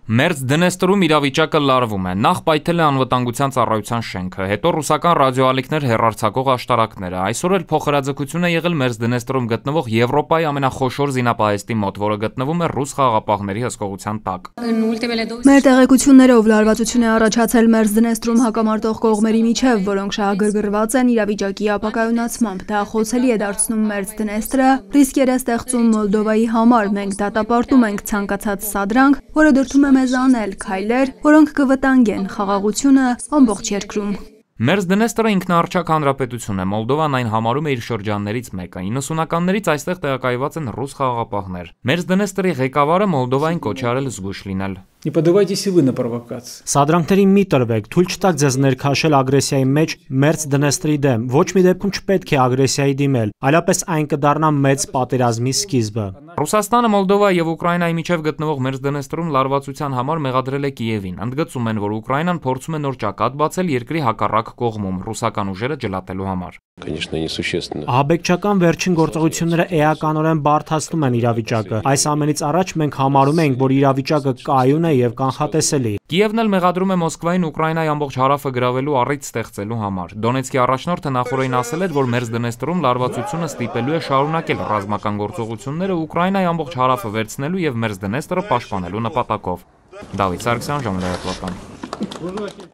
Մերձ Դնեստրում իրավիճակը լարվում է, նախ պայթել է անվտանգության ծառայության շենքը, հետո ռուսական ռադիոալիքներ հեռարձակող աշտարակները, այսօր էլ փոխհրաձգություն է եղել Մերձ Դնեստրում գտնվող Եվրոպայի ամենախոշոր զինապահեստի մոտ, որը գտնվում է ռուս խաղաղապահների հսկողության տակ։ Մեր տեղեկություններով լարվածություն է առաջացել Մերձ Դնեստրում հակամարտող կողմերի միջև, որոնք շահագրգռված են իրավիճակի ապակայունացմամբ, դա խոցելի է դարձնում Մերձ Դնեստրը, ռիսկեր է ստեղծում Մոլդովայի համար, մենք դատապարտում ենք ցանկացած սադրանք, որը դրդում է մեզ անել քայլեր, որոնք կվտանգեն խաղաղությունը ամբողջ երկրում։ Մերձ Դնեստրը ինքնաառչակ հանրապետություն է, Մոլդովան այն համարում է իր շրջաններից մեկը, 90-ականներից այստեղ տեղակայված են ռուս խաղաղապահներ։ Մերձ Դնեստրի ղեկավարը Մոլդովային կոչ է արել զգույշ լինել։ Не поддавайтесь и вы на провокации. Սադրանքների մի տրվեք, թույլ չտաք ձեզ ներքաշել ագրեսիայի մեջ Մերձ Դնեստրի դեմ։ Ոչ մի դեպքում չպետք է ագրեսիայի դիմել, այլապես այն կդառնա մեծ պատերազմի սկիզբը։ Ռուսաստանը, Մոլդովա եւ Ուկրաինայի միջև գտնվող Մերձ Դնեստրում լարվածության համար մեղադրել է Կիևին։ Ընդգծում են, որ Ուկրաինան փորձում է նոր ճակատ բացել երկրի հակառակ կողմում ռուսական ուժերը ջլատելու համար։ Ահաբեկչական վերջին գործողությունները էականորեն բարդացնում են իրավիճակը։ Այս ամենից առաջ մենք համարում ենք, որ իրավիճակը կայուն է եւ կանխատեսելի։ Կիևն էլ մեղադրում է Մոսկվային Ուկրաինայի ամբողջ հարավը գրավելու առիթ ստեղծելու համար։ Դոնեցկի առաջնորդը նախորդին ասել էր, որ Մերձ Դնեստրում լարվածությունը ստիպելու է շարունակել ռազմական գործողությունները Ուկրաինայի ամբողջ հարավը վերցնելու եւ Մերձ Դնեստրը պաշտպանելու նպատակով։ Դավիթ Սարգսյան, Ժամանակ լրատվական։